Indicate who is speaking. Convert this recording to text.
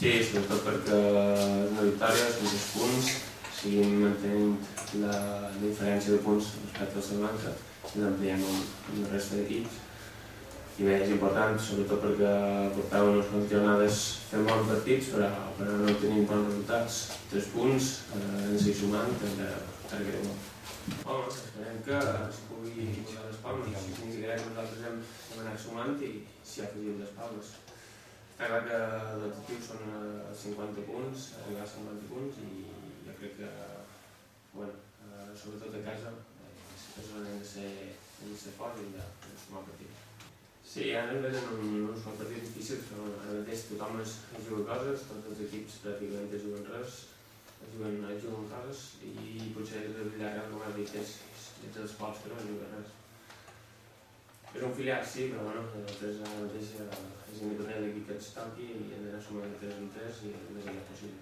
Speaker 1: Sí, sobretot perquè és una victòria, són 3 punts, seguim mantenint la diferència de punts respecte al Salamanca i l'ampliem amb la resta d'equips. I bé, és important, sobretot perquè portàvem unes quantes jornades fent bons partits, però no tenim bons resultats. 3 punts, ens hi sumant, encara queda molt. Home, esperem que es pugui posar les palmes, significarà que nosaltres hem anat sumant i s'hi ha afegit les palmes. Està clar que l'objectiu són 50 punts, arribar a 50 punts i jo crec que, sobretot a casa, és on hem de ser forts i hem de sumar partits. Sí, ara ens venen uns partits difícils, però ara mateix tothom es juga coses, tots els equips pràcticament es juguen res, es juguen coses i potser és el llarg, com has dit, és els pocs que no es juguen res. És un filial, sí, però nosaltres ara mateix és independent de l'equip que ens toqui i hem d'anar sumant de 3 en 3 i el més aviat possible.